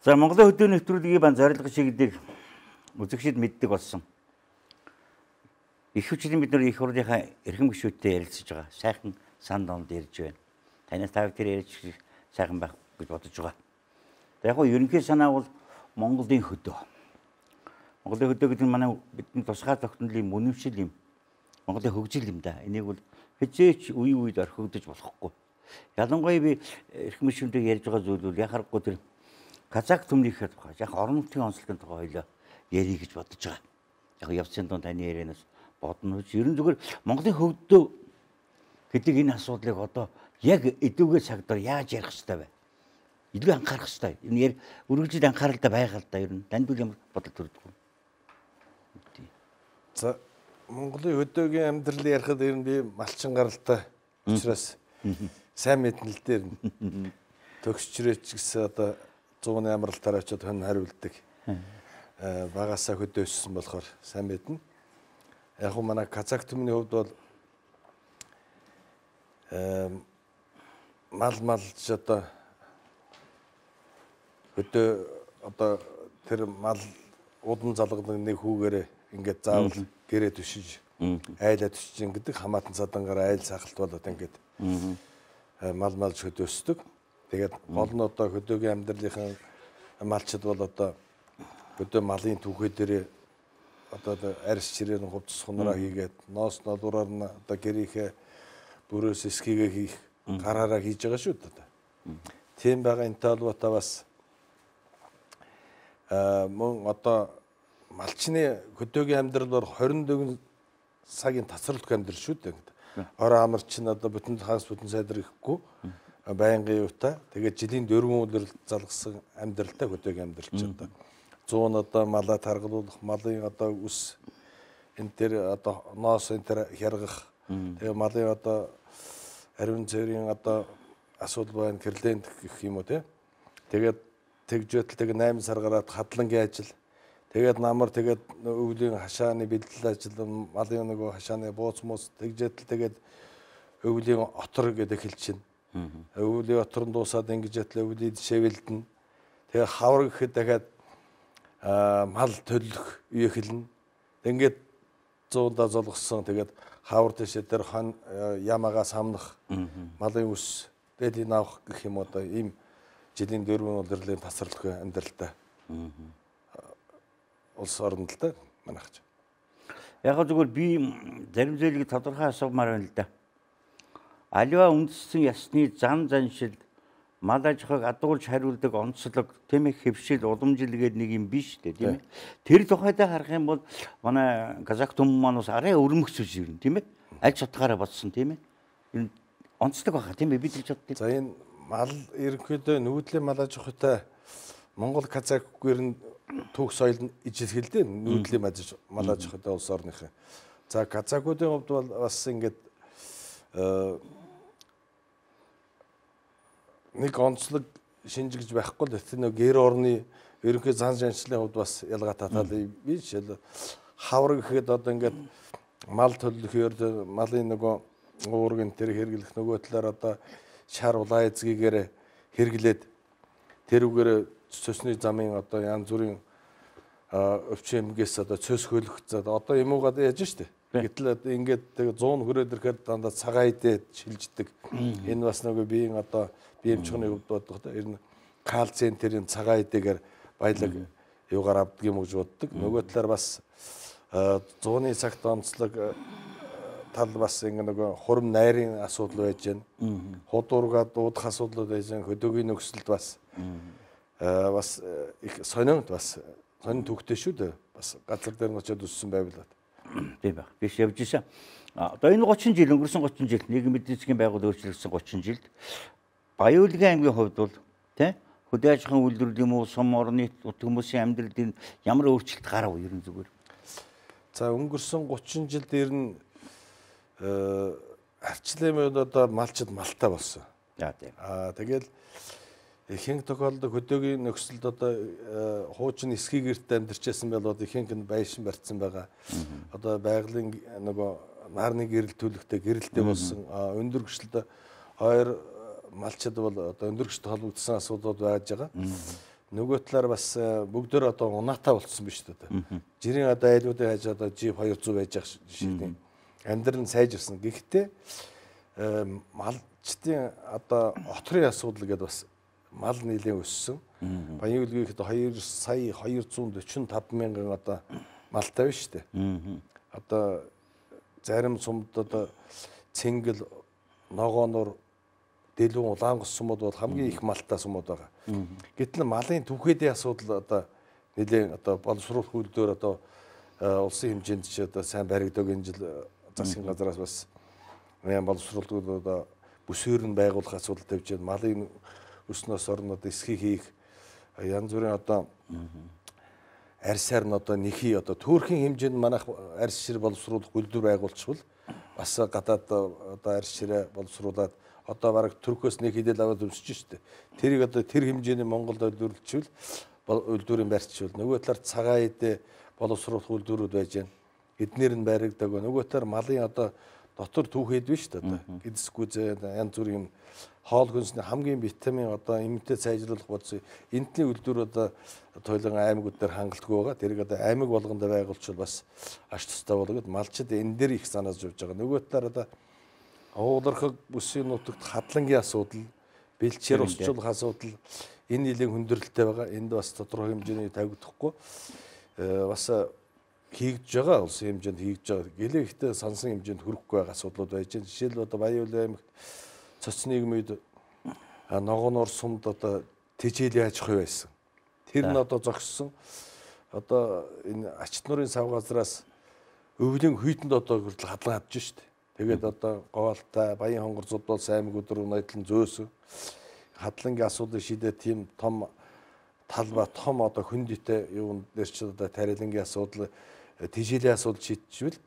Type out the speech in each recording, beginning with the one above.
За Монголын хөдөө нэвтрүүлгийн бан зорилго чиглэлийг үзэгчид мэддэг болсон. Их хүчлийн бид нар их хурлынхаа эрхэм гишүүдтэй ярилцж байгаа. Сайхан сан донд ярьж байна. Танаас та бүхэн ярьж сайхан байх гэж бодож байгаа. Яг гоо ерөнхий санаа бол Монголын хөдөө. Монголын хөдөө гэдэг нь манай бидний тусгай тогтнолын мөнөвшил юм. Монголын хөгжил юм да. Энийг бол хизээч үе үед орхигдож болохгүй. Ялангуяа би эрхэм гишүүнтэй ярьж байгаа зүйл бол яхахгүй тэр Казак түмнийхээ тухай, яг орон нутгийн онцлогийн тухай хоёлоо ярих гэж бодож байгаа. Яг явцын дунд таны ярианаас бодно. Ерөн зүгээр Монголын хөгдөө гэдэг энэ асуудлыг одоо яг эдүүгээ цагтаар яаж ярих ёстой вэ? Илүү анхаарах ёстой. Энэ үргэлжлээд анхааралтай байгаа л да. Ер нь танд ямар бодол төрдөг вэ? За Монголын хөдөөгийн амьдрал ярихад ер нь би малчин гаралтай учраас сайн мэднэ л дээр төгсчрээч гэсэн одоо 100-ны амралтаар очиод хэн хариулдаг. Багасаа хөдөө өссөн болохоор сайн мэднэ. Яг уу манай Казак түмний хувьд бол малж одоо хөдөө одоо тэр мал удан залгадаг нэг хүүгээрээ ингээд заавал гэрээ төшиж айлаа төшиж гэдэг хамаатан цадангаар айл сахалт болоод ингээд малж хөдөө өсдөг. Тэгээд гол нь одоо хөдөөгийн амьдралынхаа малчид бол одоо хөдөө малын түүхээ дээрээ одоо арьс чирээний хувцас хунараа хийгээд ноос нодураар нь одоо гэрийнхээ бүрөөс эсхийгээ хийх гараараа хийж байгаа шүү дээ. Тийм байгаа энэ талбараа бас мөн одоо малчны хөдөөгийн амьдрал бол 24 цагийн тасралтгүй амьдрал шүү дээ. Ороо амарч нь одоо бүтэн хагас бүтэн сайдар ихгүй байнгын юутай. Тэгээд жилийн 4 өдөр залгсан амьдралтай хөдөөгийн амьдрал ч одоо 100 одоо малаа таргалуулах, малын одоо үс энэ төр одоо ноос энэ төр хяргах. Тэгээд малын одоо ариун цэврийн одоо асуудал байна, кирлент гэх юм уу те. Тэгээд тэгжээтэл тэг 8 сар гараад хадлангийн ажил. Тэгээд намар тэгээд өвлийн хашааны бэлтгэл ажил, малын нөгөө хашааны бууц мус тэгжээтэл тэгээд өвлийн отор гэдэг хэлчин. Өвлийн оторн дуусаад ингэж ятлаа өвлийг шивэлдэн. Тэгээ хавар гэхэд дахиад мал төлөх үе эхэлнэ. Ингээд 100-да золгосон тэгээд хавар дэшээ тэр хан ямаага самнах малын үс дээдийн авах гэх юм одоо ийм жилийн 4 удирлын тасралтгүй амьдралтай. Улс орнд л та манайхч. Яг зүгээр би зарим зүйлийг тодорхой асуумаар байна л да. Аливаа үндэстэн ясны зан заншил мал аж ахуйг адуулж хариулдаг онцлог тийм их хэвшил уламжилгээд нэг юм биш үү тийм ээ. Тэр тухайдаа харах юм бол манай Казак түмэн маань бас арай өрмөгцөж ирнэ тийм ээ. Аль чатгаараа бодсон тийм ээ. Энэ онцлог баха тийм ээ бид л боддог. За энэ мал ерөнхийдөө нүүдлийн мал аж ахуйтай Монгол Казакгүй нь түүх соёл нь ижилхэлдэ нүүдлийн мал аж ахуйтай улс орныхын. За Казакуудын хувьд бол бас ингээд нэг онцлог шинжигж байхгүй л тэр нэг гэр орны ерөнхий зан жаншлын хувьд бас ялгаатай тал биш. Хавар гэхэд одоо ингээд мал төлөхөөр малын нөгөө уургийн тэр хэрэглэх нөгөө талаар одоо шар улаан эзгийгээр хэрэглээд тэрүүгээр цөсний замын одоо янз бүрийн өвчмгээс одоо цөс хөлөх одоо юмугаад яаж штэ. Гэтэл ингээд 100 хүрээд ирэхэд дандаа цагаан идээд шилждэг. Энэ бас нөгөө биеийн одоо бие эмчхний хувьд бодох ер нь кальцийн тэрийн цагаан идэгээр баялаг юугаар авдаг юм гэж боддог. Нөгөө талаар бас 100-ны цагт онцлог тал бас ингэ нөгөө хурим найрын асуудал байж байна. Худуурга дуудах асуудлууд байж байна. Хөдөөгийн нөхцөлд бас их сонирхолтой бас сонин төвхтэй шүү дээ. Бас газар дээр нь очиод өссөн байвал. Тийм байх. Биш явж исэн. Одоо энэ 30 жил өнгөрсөн 30 жил нийгмийн эдийн засгийн байгуул өөрчлөгдсөн 30 жилд Баяуулгын аймгийн хувьд бол тийм хөдөө аж ахуйн үйлдвэрлэл юм уу сум орны хүмүүсийн амьдралд ямар өөрчлөлт гарав ерөн зүгээр. За өнгөрсөн 30 жилд ер нь арчлын одоо малчид малтай болсон. Тийм. Тэгэл ихэнх тохиолдолд хөдөөгийн нөхцөлд одоо хуучин эсхий гэрт амьдарчсэн бол одоо ихэнх нь байшин барьсан байгаа. Одоо байгалийн нөгөө нарны гэрэл төлөхтэй гэрэлтэй болсон өндөр гүшилд хоёр малчид бол одоо өндөр гүшилд холбогдсон асуудлууд байж байгаа. Нөгөө талаар бас бүгдөө одоо унаатай болцсон биз дээ. Жирийн одоо айлуудын хаж одоо Jeep 200 байж байгаа жишээ. Амьдрал нь сайжирсан. Гэхдээ малчдын одоо отрын асуудал гэдэг бас мал нийлэн өссөн. Баян үлгийхэд 2 сая 245 мянган одоо малтай байна шүү дээ. Одоо зарим сумд одоо цэнгэл, ногоонор, дэлгүүн, улаангос сумууд бол хамгийн их малтай сумууд байгаа. Гэтэл малын түвхээдийн асуудал одоо нэлээд одоо боловсруулах үйлдвэр одоо улсын хэмжээнд ч одоо сайн баригдаг энэ жил засгийн газраас бас боловсруулалт одоо бүсээр нь байгуулах асуудал тавьж байна. Малын өснөөс орно одоо эсхийг хийх янз бүрийн одоо арьсаар нь одоо нэхий одоо төөрхийн хэмжээнд манайх арьс шир боловсруулах үйлдвэр байгуулчихвал бас гадаад одоо арьс ширээ боловсруулад одоо бараг Туркоос нэг хідэл аваад өмсөж штэ. Тэрийг одоо тэр хэмжээний Монголд үйлдвэрлэжвэл үйлдвэрийн барьчвал нөгөө талаар цагаан эдээ боловсруулах үйлдвэрүүд байж байна. Эднэр нь баригдаг. Нөгөө талаар малын одоо дотор түүхэд биш шүү дээ. Гэдэсгүй янз бүрийн хоол хүнсний хамгийн витамин одоо иммунитет сайжруулах бодсон энтний үйлдвэр одоо тойлон аймагуд дээр хангалтгүй байгаа. Тэрийг одоо аймаг болгонд байгуулчихвал бас аш тустай болгоод малчид энэ дээр их санааж явж байгаа. Нөгөө талаар одоо уулархаг бүсийн нутагт хадлангийн асуудал, бэлчээр усчлах асуудал энэ нэлийн хүндрэлтэй байгаа. Энд бас тодорхой хэмжээний тавигдахгүй бас хийгдэж байгаа улсын хэмжээнд хийгдэж байгаа. Гэлээ ихтэй сансан хэмжээнд хүрэхгүй байгаа асуудлууд байж байна. Жишээл одоо Баян-Улайн аймагт цоцны нийгмид ногоонор сумд одоо тэжээлийн аж ахуй байсан. Тэр нь одоо зогссон. Одоо энэ ачт нурын сав газраас өвлийн хүйтэнд одоо хүртэл хадлан хадж штэ. Тэгээд одоо Гоолтай, Баян хонгор зудлал аймагуд руу найдлан зөөсөн. Хадлангийн асуудыг шийдээ тийм том талба том одоо хүндитэй юун дээр ч одоо тарилангийн асуудал тэжээлийн асуудал шийдчихвэл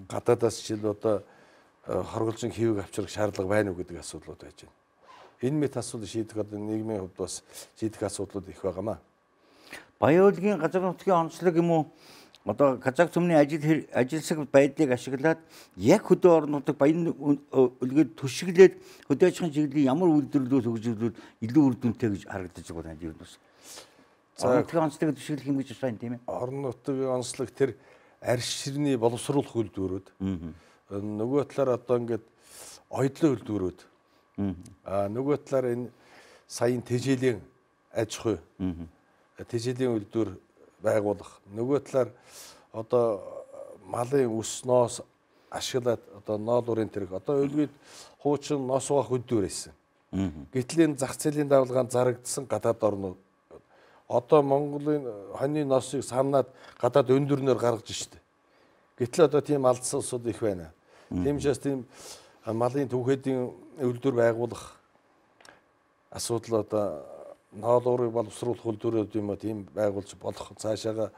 гадаадаас жишээл одоо хорголжин хийвэг авчрах шаардлага байна уу гэдэг асуудлууд байж байна. Энэ мэт асуудал шийдэх одоо нийгмийн хувьд бас шийдэх асуудлууд их байгаамаа. Баян-Улгийн газар нутгийн онцлог юм уу? Одоо Казак цөмний ажилсаг байдлыг ашиглаад яг хөдөө орон нутаг Баян-Улгийг төшөглөөд хөдөө аж ахуйн чиглэлийн ямар үйлдвэрлэлүүд хөгжүүлвэл илүү үр дүнтэй гэж харагдаж байгаа юм байна. Орон нутгийн онцлогыг төшөглөх юм гэж байна тийм ээ. Орон нутгийн онцлог тэр арьс ширний боловсруулах үйлдвэрүүд. Нөгөө талаар одоо ингээд оёдлын үйлдвэрүүд. Нөгөө талаар энэ саяын тэжээлийн аж ахуй. Тэжээлийн үйлдвэр байгуулах. Нөгөө талаар одоо малын өс ноос ашиглаад одоо ноол урын тэрэг одоо өлгөд хуучин ноос угаах үйлдвэр байсан. Гэтэл энэ зах зээлийн давлгаанд зарагдсан гадаад орнууд одоо Монголын хоньны ноосыг самнаад гадаад өндөрнөр гаргаж штэ. Гэтэл одоо тийм алдсан улсууд их байна. Тийм учраас тийм малын түүхэдийн үйлдвэр байгуулах асуудал одоо ноол урыг боловсруулах үйлдвэрүүд юм а тийм байгуулж болох цаашаага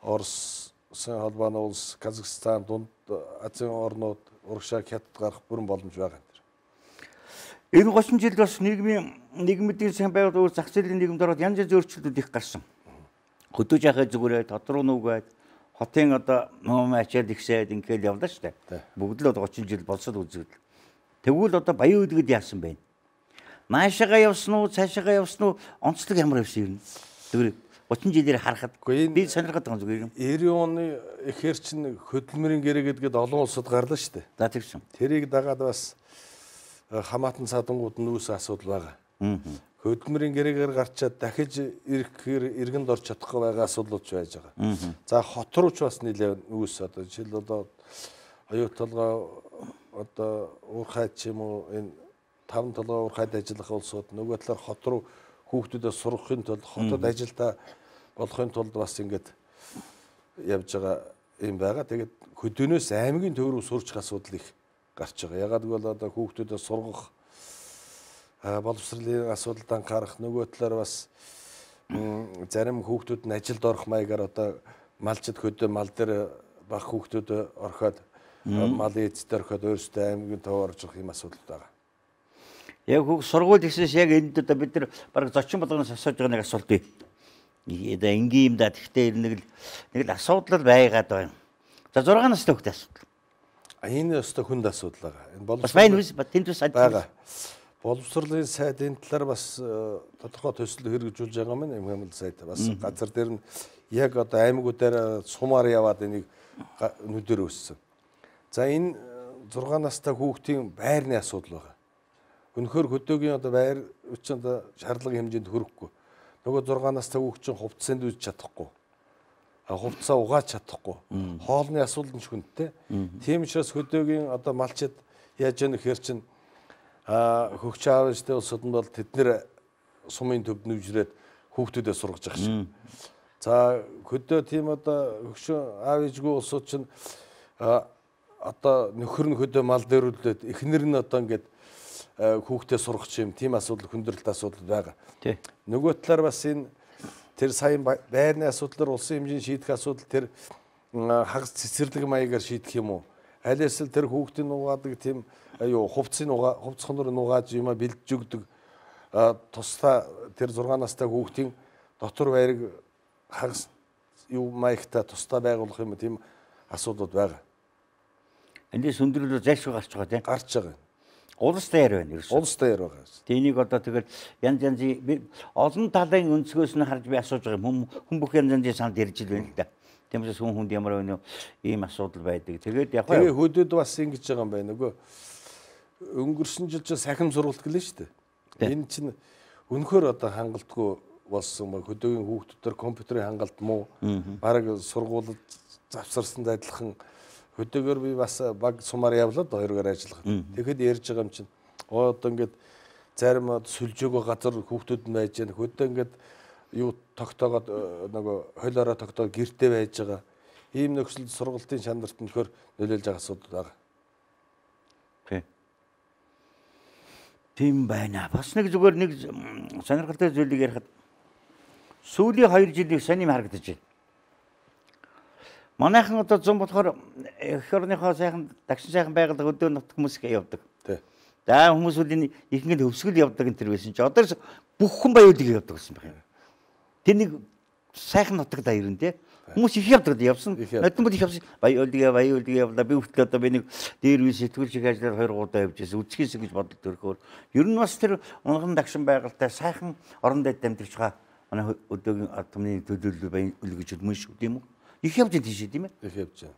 Оросын холбооны улс, Казахстан, Дунд Азийн орнууд, урагшаа Хятад гарах бүрэн боломж байгаа юм. Энэ 30 жилд бас нийгмийн сайн байгуулалт зах зээлийн нийгэмд ороод янз янзын өөрчлөлтүүд их гарсан. Хөдөө жахаа зүгээрээ тодорхой нүгээд хотын одоо ном ачаад ихсээд ингээл явлаа штэ. Бүгд л одоо 30 жил болсод үзвэл. Тэгвэл одоо Баян-Улгид яасан бэ? Наашаага явсан уу, цаашаага явсан уу? Онцлог ямар явсан юм? Тэгвэл 30 жилээр харахад би сонирхоод байгаа зүгээр юм. 90 оны ихэр чинь хөдөлмөрийн гэрээ гэдгээд олон улсад гарлаа штэ. За тэгсэн. Тэрийг дагаад бас хамаатан садангууд нь үүс асуудал байгаа. Хөдөлмөрийн гэрээгээр гарчаад дахиж ирэхээр иргэнд орж чадахгүй байгаа асуудлууд ч байж байгаа. За хот руу ч бас нэлээд үүс одоо жишээл одоо оюут толгой одоо уурхайд ч юм уу энэ 5 толгой уурхайд ажиллах улсууд нөгөө талаар хот руу хүүхдүүдээ сургахын тулд хотод ажилдаа болохын тулд бас ингэж явж байгаа юм байгаа. Тэгээд хөдөөнөөс аймгийн төв рүү сурчих асуудал их гарч байгаа. Ягаад гэвэл одоо хүүхдүүдээ сургах боловсролын асуудалд анхаарах нөгөө талаар бас зарим хүүхдүүд нь ажилд орох маягаар одоо малчид хөдөө мал дээр баг хүүхдүүд орхиод малын эцэд орхиод өөрсдөө аймгийн төв орж ирэх юм асуудал байгаа. Яг хүүхд сургууль гэснээс яг энд одоо бид нар баг зочин болгоноос асууж байгаа нэг асуулт бий. Одоо энгийн юм да гэхдээ нэг л асуудал байгаад байна. За 6 настай хүүхдээ асуудал. Энэ өстө хүнд асуудал байгаа. Энэ боловсрол бас байна үс тэнд бас байгаа. Боловсролын сайд энэ талаар бас тодорхой төсөл хэрэгжүүлж байгаа маань Эмхэмэл сайд бас газар дээр нь яг одоо аймагуудаар сумаар яваад энийг нүдээр өссөн. За энэ 6 настай хүүхдийн байрны асуудал байгаа. Үнэхээр хөдөөгийн одоо байр чинь одоо шаардлага хэмжээнд хүрэхгүй. Нөгөө 6 настай хүүхд чинь хувцсанд үз чадахгүй. Хувцсаа угааж чадахгүй. Хоолны асуудал нь хүндтэй. Тийм учраас хөдөөгийн одоо малчид яаж яах гэхээр чинь хөгч аав ээжтэй улсууд нь бол тэднэр сумын төв нүжрээд хүүхдүүдэд сургаж байгаа шиг. За хөдөө тийм одоо хөгш аав ээжгүй улсууд чинь одоо нөхөр нь хөдөө мал дээрлээд эхнэр нь одоо ингээд хүүхдээ сургах юм тийм асуудал хүндрэлт асуудал байгаа. Нөгөө талаар бас энэ тэр сайн байрны асуудлаар улсын хэмжээний шийдэх асуудал тэр хагас цэцэрлэг маягаар шийдэх юм уу? Аль эсвэл тэр хүүхдийн угаадаг тийм хувцсхоноор нугааж юма бэлдэж өгдөг тусдаа тэр 6 настай хүүхдийн дотор байрыг хагас маягтай тусдаа байгуулах юм тийм асуудлууд байгаа. Эндээс өндөрлөө зайлшгүй гарч байгаа тийм. Гарч байгаа. Улс дээр байна ерөөс. Улс дээр байгаа. Тэнийг одоо тэгэл янз янзын олон талын өнцгөөс нь харж би асууж байгаа юм. Хүн бүх янз янзын санд ярьж л байна л да. Тиймээс хүн хүнд ямар байна вэ? Ийм асуудал байдаг. Тэгээд яг тэгээ хөдөөд бас ингэж байгаа юм байна. Нөгөө өнгөрсөн жил ч сахим сургалт гэлээ шүү дээ. Энэ чинь үнэхээр одоо хангалтгүй болсон баг. Хөдөөгийн хүүхдүүдээр компьютерийн хангалт муу. Бараг сургуулиуд завсарсан адилхан хөдөөгөр би бас баг сумаар явлаа 2 гараар ажиллах. Тэгэхэд ярьж байгаа юм чинь одоо ингээд зарим сүлжөөгөө газар хүүхдүүд нь байж байна. Хөдөө ингээд юу тогтоогоод нөгөө хойлоороо тогтоог гэртээ байж байгаа. Ийм нөхцөлд сургалтын шандарт нөхөр нөлөөлж байгаа асуудал байгаа. Тийм байна. Бас нэг зүгээр нэг сонирхолтой зүйлийг ярихад сүүлийн 2 жилийн сонирм харагдаж байна. Манайхан одоо зам болохоор эх орныхоо сайхан дагшин сайхан байгууллага өдөө нутг хүмүүс явдаг. За хүмүүс үл их ингээд хөвсгөл явдаг энэ төр байсан чи одоо бүх хүн баяуулыг явдаг гэсэн байна. Тэр нэг сайхан нутаг даа ирэн тий. Хүмүүс их явдаг явсан. Нотон бол их явсан. Баяуулыг явлаа. Би хүртэл одоо би нэг дээр үе сэтгүүлчиг ажиллаар 2 удаа явж байсан. Үзхийс гэж боддог төрхөөр. Ер нь бас тэр унган дагшин байгууллагатай сайхан орон дэд амьдарч байгаа манай өдөөгийн атомны төлөөлөл баяуулыг гэж хэлмэн шүү тийм үү? Их явж байгаа тийш тийм ээ. Их явж байгаа.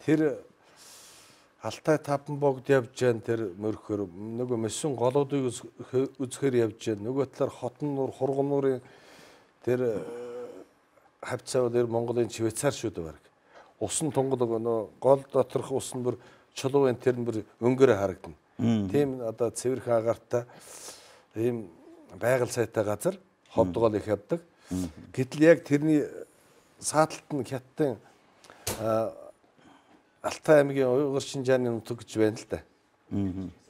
Тэр Алтай таван богд явж байгаа тэр мөрхөр нөгөө мэсэн голуудыг үзэхээр явж байгаа. Нөгөө талаар хотон нуур, хурган нуурын тэр хавцаа дээр Монголын Швейцар шүү дээ баг. Усан тунгал нөгөө гол доторх ус нь бүр чулуу энэ тэр нь бүр өнгөөрөө харагдана. Тийм одоо цэвэрхэн агаартай ийм байгаль сайтай газар ховдгол их явдаг. Гэтэл яг тэрний сааталт нь хятадын Алтай аймгийн Уйгур Шинжааны нутаг гэж байна л да.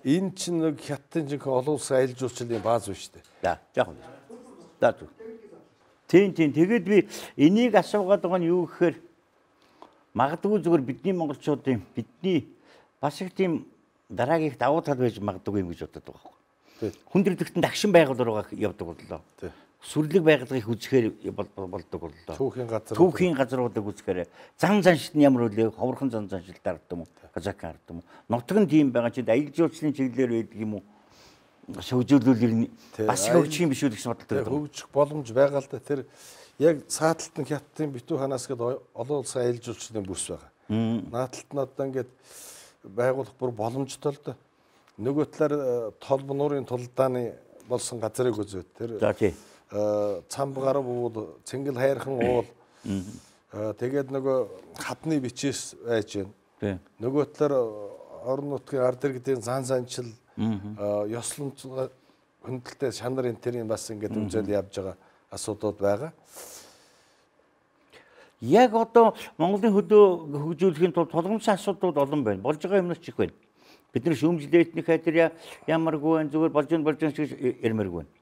Энэ чинь нэг хятадын жинхэнэ олон улсын аялал жуулчлалын бааз байна шүү дээ. За яг нь. За зү. Тийм. Тэгээд би энийг асуугаад байгаа нь юу гэхээр магадгүй зүгээр бидний монголчуудын бидний бас их тийм дараагийн давуу тал байж магадгүй юм гэж боддог байгаа байхгүй. Хүндрэлтэн дагшин байгууллага явдаг боллоо. Сүрлэг байгууллагыг үзэхээр болдог боллоо. Түүхийн газруудыг үзэхээр зан заншилт нь ямар үлээ ховорхон зан заншилт арддаг юм уу? Казакан арддаг юм уу? Нутаг нь тийм байгаа чинь аялал жуулчлалын чиглэлээр байдаг юм уу? Шүүжүүлүүлэр бас хөгжих юм биш үү гэсэн бодолтой. Хөгжих боломж байгаа л да. Тэр яг сааталт нь хятадын битүү ханаас гээд олон улсын аялал жуулчлалын бүс байгаа. Нааталт нь одоо ингээд байгуулах бүр боломжтой л да. Нөгөө талаар толб нуурын тулдааны болсон газрыг үзээд тэр цамб гарав уул цэнгэл хайрхан уул тэгээд нөгөө хадны бичээс байж байна. Нөгөө талаар орон нутгийн ард иргэдийн зан занчил ёсломж хөндлөлтөд шанар энтерийн бас ингээд үзэл явж байгаа асуудууд байгаа. Яг одоо Монголын хөдөө хөгжүүлэхийн тулд тулгамдсан асуудлууд олон байна. Болж байгаа юмнаас ч их байна. Бид нар шүүмжлэл этник хайдар ямаргүй байна. Зүгээр болж гэж ярмааргүй байна.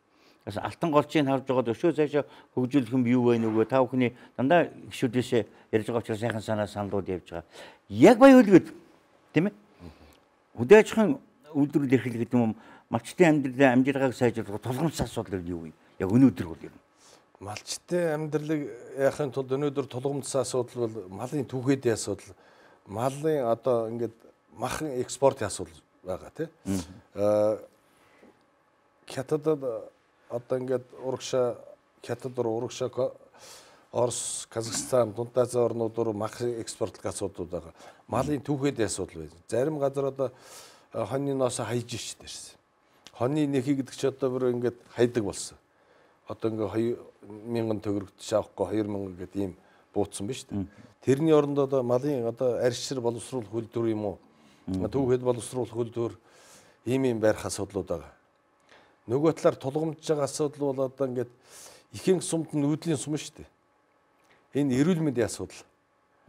Бас алтан голчийг харж байгаа өшөө цаашаа хөгжүүлэх юм юу вэ нүгөө та бүхний дандаа гişүүдээсээ ярьж байгаа учраас сайхан санаа саналууд явж байгаа. Яг баяуулгээд тийм ээ. Хөдөө аж ахуйн үйлдвэрлэл эрхлэх гэдэг юм малчтын амьдралын амжилгааг сайжруулах тулгамдсан асуудал юу вэ? Яг өнөөдөр бол юм. Малчтын амьдралыг яахын тулд өнөөдөр тулгамдсан асуудал бол малын түүхээдийн асуудал. Малын одоо ингээд махан экспортын асуудал байгаа тийм. хятадд одоо ингээд урагшаа хятад руу урагшаа Орос, Казахстан, Дунд Азийн орнууд руу мах экспортлох асуудлууд байгаа. Малын түүхээдийн асуудал байна. Зарим газар одоо хоньны ноосоо хайж штэ дэрсэн. Хоньны нэхий гэдэг чи одоо бүр ингээд хайдаг болсон. Одоо ингээ 2000 төгрөгт шавахгүй 2000 гэдэг ийм бууцсан ба штэ. Тэрний оронд одоо малын одоо арьсшир боловсруулах хөлтөр юм уу? Түүхэд боловсруулах хөлтөр ийм барих асуудлууд байгаа. Нөгөө талаар тулгамдж байгаа асуудал бол одоо ингээд ихэнх сумд нүүдлийн сум штэ. Энэ эрүүл мэндийн асуудал.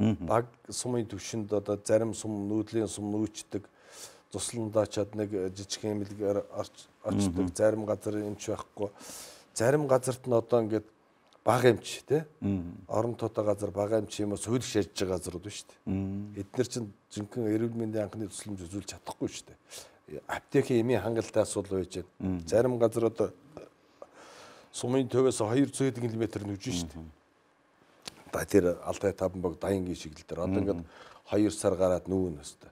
Баг сумын төвшөнд одоо зарим сум нүүдлийн сум нүүчдэг, тусландаа чад нэг жижиг эмнэлгээр очдог, зарим газар эмч байхгүй. Зарим газарт нь одоо ингээд бага эмч тий. Орон тоотой газар бага эмч юм уу сүйдэх шажиж байгаа газрууд шүү дээ. Эдгээр чинь жинхэнэ эрүүл мэндийн анхны тусламж үзүүлж чадахгүй шүү дээ. Аптекийн эмийн хангалттай асуудал байж байна. Зарим газар одоо сумын төвөөс 200 км нүж шүү дээ. Тэр Алтай Таванбог Даянгийн шиглэл дээр одоо ингээд 2 сар гараад нүүн өстой.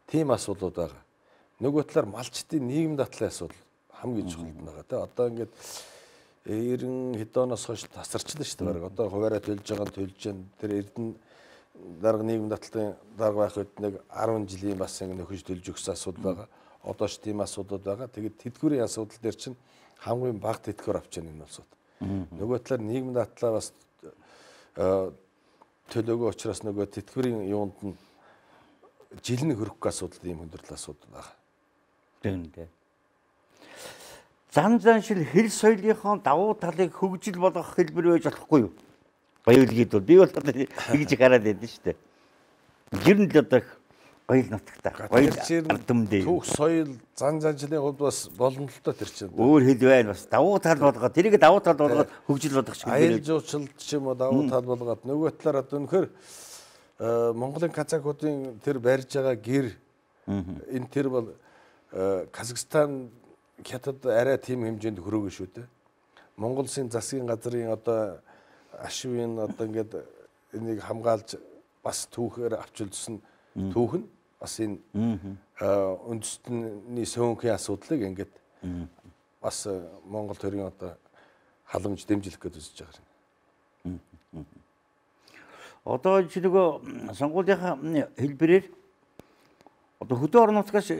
Тийм асуудлууд байгаа. Нөгөө талаар малчдын нийгэм дадлын асуудал хамгийн чухал байгаа тий. Одоо ингээд 90 хэд оноос хойш тасарчлаа шүү дээ. Одоо хуваараа төлж байгаа нь төлж जैन. Тэр Эрдэнэ дарга нийгэм дадлын дарга байх үед нэг 10 жилийн бас ингэ нөхөж төлж өгсөн асуудал байгаа. Одоо ч тийм асуудал байгаа. Тэгээд тэтгэврийн асуудал дээр чинь хамгийн бага тэтгэвэр авч байгаа энэ улсууд. Нөгөө талаар нийгэм дадлаа бас төлөөгөө учраас нөгөө тэтгэврийн юунд нь жилийн хөрөх асуудал ийм хүндрэл асуудал байгаа. Тэгнэ. Зан заншил хэл соёлынхоо давуу талыг хөгжил болгох хэлбэр байж болохгүй юу? Баялагид бол би бол тэгж гараад байдаг шүү дээ. Гэр нь л одоо баял нутагтай. Баял ардмдээ. Түүх соёл зан заншилын хувьд бас боломжтой тэр чинь. Өөр хэл байна бас давуу тал болгоод тэрийг давуу тал болгоод хөгжил болгох шиг. Аял жуулчлалт ч юм уу давуу тал болгоод нөгөө талаар одоо үнэхээр Монголын казакуудын тэр барьж байгаа гэр энэ тэр бол Казахстан хятад арай тийм хэмжээнд хүрээгүй шүү дээ. Монгол Улсын засгийн газрын одоо ашивын одоо ингээд энийг хамгаалж бас түүхээр авчилсан түүх нь бас энэ үндэстний сөөнхийн асуудлыг ингээд бас Монгол төрийн одоо халамж дэмжлэх гэж үзэж байгаа юм. Одоо чи нөгөө сонгуулийнхаа хэлбэрээр одоо хөдөө орон нутгаас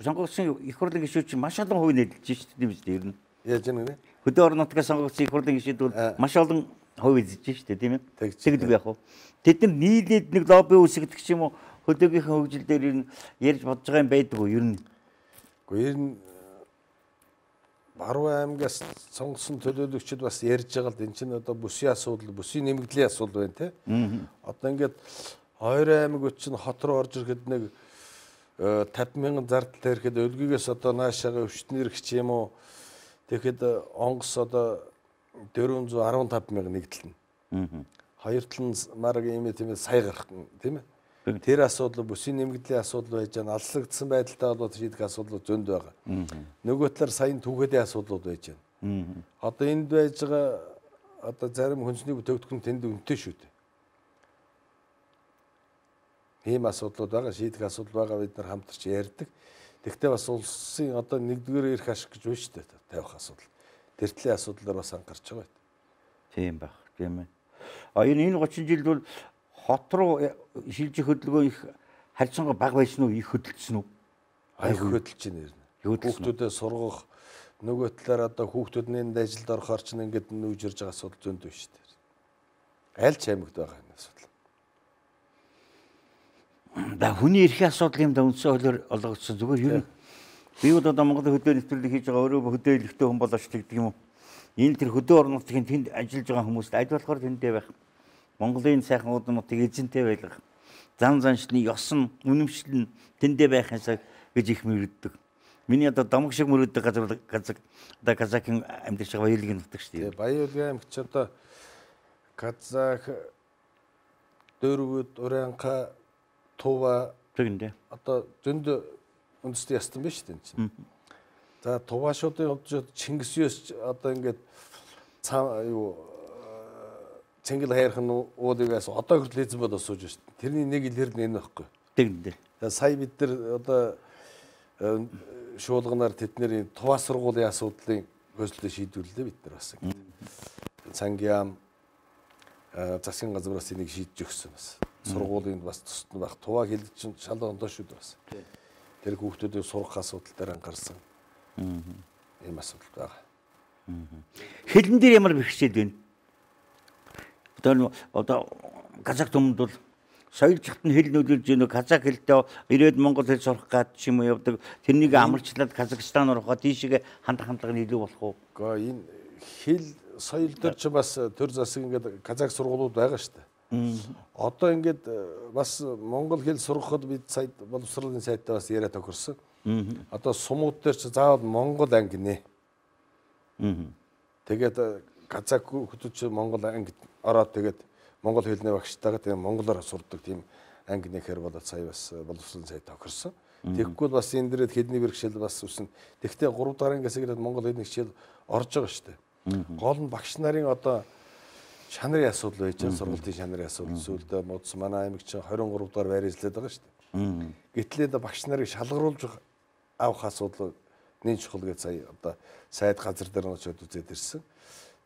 сонгогдсон их хурлын гишүүд чинь маш олон хувь нээлтж шүү дээ юм шүү дээ ер нь. Яаж юм бэ? Хөдөө орон нутгаас сонгогдсон их хурлын гишүүд бол маш олон хувь эзэж шүү дээ тийм ээ. Тэгдэг яг уу. Тэд нар нийлээд нэг лобби үүсгэх ч юм уу хөдөөгийнхээ хөгжил дээр ер нь ярьж бодож байгаа юм байдаг уу ер нь? Гэхдээ ер нь Баруун аймгаас сонгосон төлөөлөгчд бас ярьж байгаа л энэ чинь одоо бүсийн асуудал, бүсийн нэмэгдлийн асуудал байна те. Одоо ингээд Ойрын аймаг чинь хот руу орж ирэхэд нэг 50,000 зардал тарихад өлгийгээс одоо наашаага өвчтнэр гэх юм уу. Тэгэхэд онгоц одоо 415,000 нэгдэлнэ. Хоёр талын мараг ийм тийм сая гарах тийм ээ. Тэр асуудал бүсийн нэмэгдлийн асуудал байж байгаа. Алслагдсан байдалтай болоод шийдэх асуудал зөнд байгаа. Нөгөө талаар саяны түүхэдийн асуудлууд байж байна. Одоо энд байж байгаа одоо зарим хүнсний бүтээгдэхүүн тэнд үнэтэй шүү дээ. Ийм асуудлууд байгаа, шийдэх асуудал байгаа бид нар хамтарч ярьдаг. Тэгвэл бас улсын одоо нэгдүгээр эрх ашиг гэж байна шүү дээ тавих асуудал. Тэртлийн асуудлаар бас анхаарч байгаа байт. Тийм баг, тийм ээ. Энэ 30 жилд бол хот руу шилжих хөдөлгөөн их харьцангуй бага байсан уу, их хөдөлсөн үү? Их хөдөлж байна нэрнэ. Хүүхдүүдэд сургах нөгөө талаар одоо хүүхдүүд нь энд ажилд орохоор ч ингээд нүүж ирж байгаа асуудал зөнд байна шүү дээ. Аль ч аймагт байгаа энэ асуудал. Да хүний эрхийн асуудал юм да үндсэн хуулиар олгогдсон. Зүгээр ер нь би бол одоо Монголын хөдөө нэвтрүүлэг хийж байгаа өөрөө хөдөө хэлэхтэй хүн болооч тэгдэг юм уу? Энэ тэр хөдөө орон нутгийн тэнд ажиллаж байгаа хүмүүст аль болохоор тэндээ байх. Монголын сайхан удмуудыг эзэнтэй байлгах, зан заншлын ёсон, үнэмшил нь тэндээ байхынсаа гэж их мөрөддөг. Миний одоо домог шиг мөрөддөг газар одоо казакын амьдарч байгаа баялагын нутаг шүү дээ. Баялагын аймаг ч одоо казак, Дөрвөд, Уранка, Тува тэгнэ. Одоо зөнд үндэсний ястан биш үү чинь. За Тувашуудын хувьд Чингис Юс одоо ингээд юу Цэнгэл хайрхан уулыгаас одоо хүртэл эзэн болоод сууж байна шүү дээ. Тэрний нэг илэр нь энэ байхгүй. Тэгнэ. За сая бид нар одоо шуулганаар тэдний туваа сургуулийн асуудлын хөөслөлөө шийдвэрлэлээ бид нар бас ингэ. Цангиам засгийн газраас энийг шийдэж өгсөн бас. Сургуулийн бас тусад нь баг туваа хэлд чинь шал ондоо шүү дээ бас. Тэр хүүхдүүдийн сурах асуудал дээр анхаарсан. Ийм асуудал байгаа. Хэлэн дээр ямар бэрхшээл байна? Одоо казак түмэнд бол соёлжихт нь хэл нөлөөлж өгнө. Казак хэлтэй ирээд монгол хэл сурах гад ч юм уу явдаг. Тэрнийг амарчлаад Казахстан руу хаа тийшээ хандлага нь илүү болох уу? Гэхдээ энэ хэл соёл дээр ч бас төр засаг ингээд казак сургуулиуд байгаа шүү дээ. Одоо ингээд бас монгол хэл сурахад бид сая боловсролын сайтаа бас яриа тохирсон. Одоо сумууд дээр ч заавал монгол анги нэ. Тэгээд казак хүмүүс монгол анги ороод тэгээд монгол хэлний багштайгаа тэгээд монголоор сурдаг тийм анги нэхэр болоод сая бас боловсролын сайт тохирсон. Тэгэхгүй бас энэ дээрээ хэлний бэрхшээл бас үсэн. Тэгвэл 3 дахь ангиас ирээд монгол хэлний хичээл орж байгаа шүү дээ. Гол нь багш нарын одоо чанарын асуудал байж байгаа, сургалтын чанарын асуудал. Сүүлдээ модс манай аймаг чинь 23 дахь байршлаад байгаа шүү дээ. Гэтэл энэ багш нарыг шалгаруулж авах асуудал нэг чухал гэж сая одоо сайд газар дээр нь очиод үзээд ирсэн.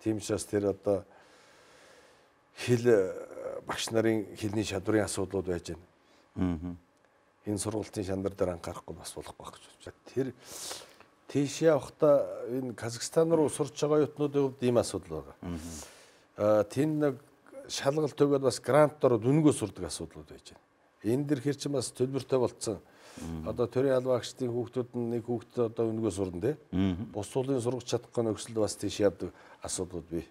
Тийм учраас тэр одоо хэл багш нарын хэлний чадварын асуудлууд байж байна. Энэ сургалтын шандар дээр анхаарахгүй бас болохгүй байх гэж байна. Тэр тийшээ явахдаа энэ Казахстан руу сурч байгаа юутнуудын хувьд ийм асуудал байгаа. Тэнд нэг шалгалт өгөөд бас грантаар дүнгөө сурдаг асуудлууд байж байна. Энэ дэр хэр чинь бас төлбөртэй болцсон. Одоо төрийн албан агчдын хүүхдүүд нь нэг хүүхдээ одоо дүнгөө сурна те. Бус уулын сургаж чадахгүй нөхцөлд бас тийш явдаг асуудлууд бий.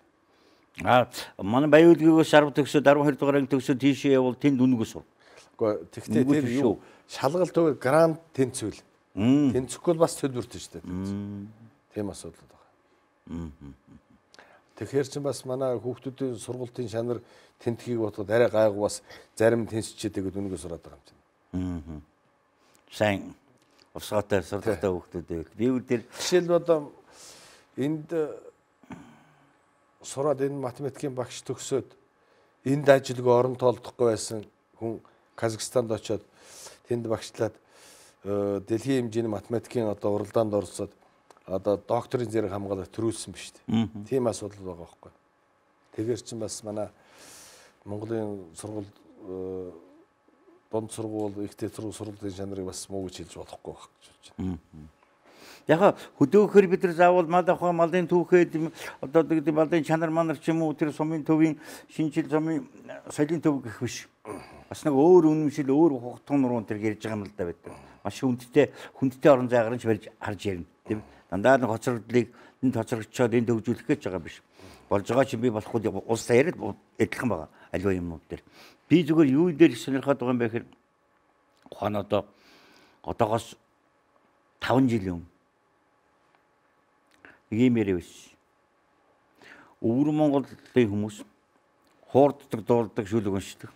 Манай Баян-Улгээс 10 төгсөөд 12 дугаар анги төгсөөд тийшээ явбал тэнд дүнгөө сур. Гэхдээ тэр юу шалгалт өгөө грант тэнцвэл. Тэнцэхгүй бас төлбөртэй шүү дээ. Тийм асуудал байгаа. Тэгэхээр чинь бас манай хүүхдүүдийн сургалтын чанар тэнтхийг бодоход арай гайгүй бас зарим тэнцчихэд дүнгөө сураад байгаа юм чинь. Сайн усгаатай сургалттай хүүхдүүдээ би үдээр жишээл одоо энд сураад энэ математикийн багш төгсөөд энд ажилгүй орон тоолдохгүй байсан хүн Казахстанд очиод тэнд багшлаад дэлхийн хэмжээний математикийн одоо уралдаанд орсод одоо докторийн зэрэг хамгаалалт төрүүлсэн биз дээ. Тийм асуудал байгаа байхгүй. Тэгэхээр чинь бас манай Монголын сургууль дунд сургууль ихтэй сургуулийн чанарыг бас муу гэж хэлж болохгүй байх гэж байна. Яг хөдөөхөр бид нар заавал малахаа малын түүхэд одоо гэдэг малын чанар манар ч юм уу тэр сумын төвийн шинжил сумын соёлын төв гэх биш. Бас нэг өөр үнэмшил өөр хугтгын нуруунд тэр ярьж байгаа юм л да байдаг. Маш хүндтэй орон зайгаар нь барьж харж ярина тийм. Дандаа нэг хоцрогдлыг энэ тоцрогчоод энэ төвжүүлэх гэж байгаа биш. Болж байгаа чинь би болохгүй улс яриад адилхан байгаа аливаа юмнууд дээр. Би зүгээр юу дээр сонирхоод байгаа юм бэ гэхээр ухаан одоогоос 5 жилийн өмнө ийм яриа биш. Өвөр Монголын хүмүүс хуурддаг, дуулдаг, шүлэг уншдаг.